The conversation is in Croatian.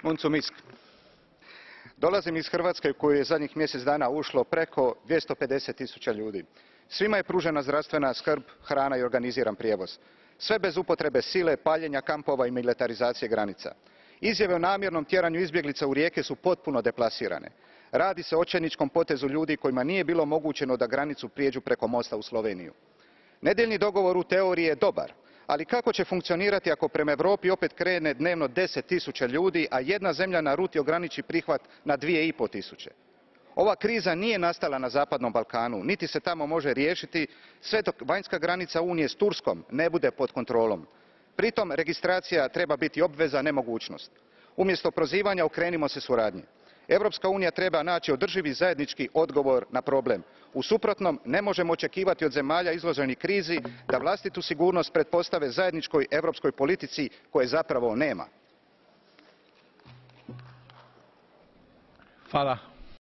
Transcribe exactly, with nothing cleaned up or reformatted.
Muncu Misk. Dolazim iz Hrvatske u koju je zadnjih mjesec dana ušlo preko dvjesto pedeset tisuća ljudi. Svima je pružena zdravstvena skrb, hrana i organiziran prijevoz. Sve bez upotrebe sile, paljenja kampova i militarizacije granica. Izjave o namjernom tjeranju izbjeglica u rijeke su potpuno deplasirane. Radi se o očajničkom potezu ljudi kojima nije bilo omogućeno da granicu prijeđu preko mosta u Sloveniju. Nedjeljni dogovor u teoriji je dobar, ali kako će funkcionirati ako prema Europi opet krene dnevno deset tisuća ljudi, a jedna zemlja na ruti ograniči prihvat na dvije i pol tisuće? Ova kriza nije nastala na Zapadnom Balkanu, niti se tamo može riješiti sve dok vanjska granica Unije s Turskom ne bude pod kontrolom. Pritom registracija treba biti obveza, ne mogućnost. Umjesto prozivanja okrenimo se suradnji. Europska unija treba naći održivi zajednički odgovor na problem. U suprotnom ne možemo očekivati od zemalja izloženih krizi da vlastitu sigurnost pretpostave zajedničkoj europskoj politici koje zapravo nema. Hvala.